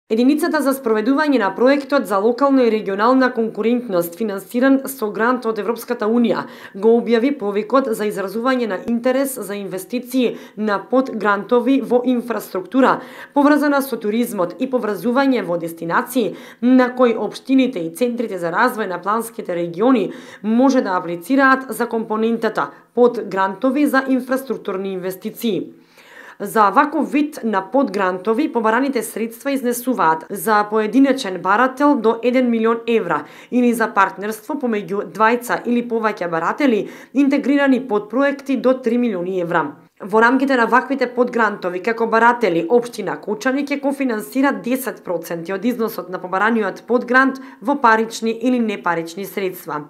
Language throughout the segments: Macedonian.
Единицата за спроведување на проектот за локална и регионална конкурентност, финансиран со грант од Европската Унија, го објави повикот за изразување на интерес за инвестиции на подгрантови во инфраструктура, поврзана со туризмот и поврзување во дестинации, на кои општините и центрите за развој на планските региони може да аплицираат за компонентата подгрантови за инфраструктурни инвестиции. За ваков вид на подгрантови побараните средства изнесуваат за поединечен барател до 1 милион евра или за партнерство помеѓу двајца или повеќе баратели интегрирани подпроекти до 3 милиони евра. Во рамките на ваквите подгрантови, како баратели, општина Кочани ќе кофинансира 10% од износот на побараниот подгрант во парични или непарични средства.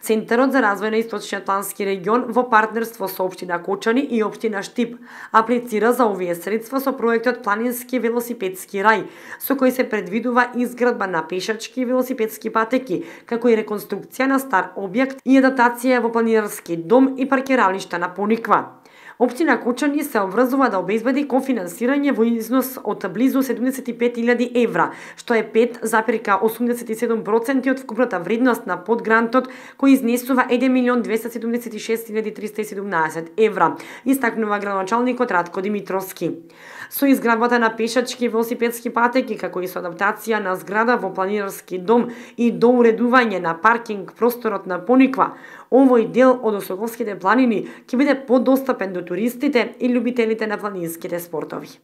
Центарот за развој на Источниот плански регион во партнерство со општина Кочани и општина Штип аплицира за овие средства со проектот Планински велосипедски рај, со кој се предвидува изградба на пешачки и велосипедски патеки, како и реконструкција на стар објект и адаптација во планинарски дом и паркиралишта на Пониква. Општина Кочани се обврзува да обезбеди кофинансирање во износ од близу 75.000 евра, што е 5,87% од вкупната вредност на подгрантот, кој изнесува 1.276.317 евра, истакнува градоначалникот Радко Димитровски. Со изградбата на пешачки и велосипедски патеки, како и со адаптација на зграда во планинарски дом и доуредување на паркинг просторот на Пониква, овој дел од Осоговските планини ќе биде подостапен до туристите и љубителите на планинските спортови.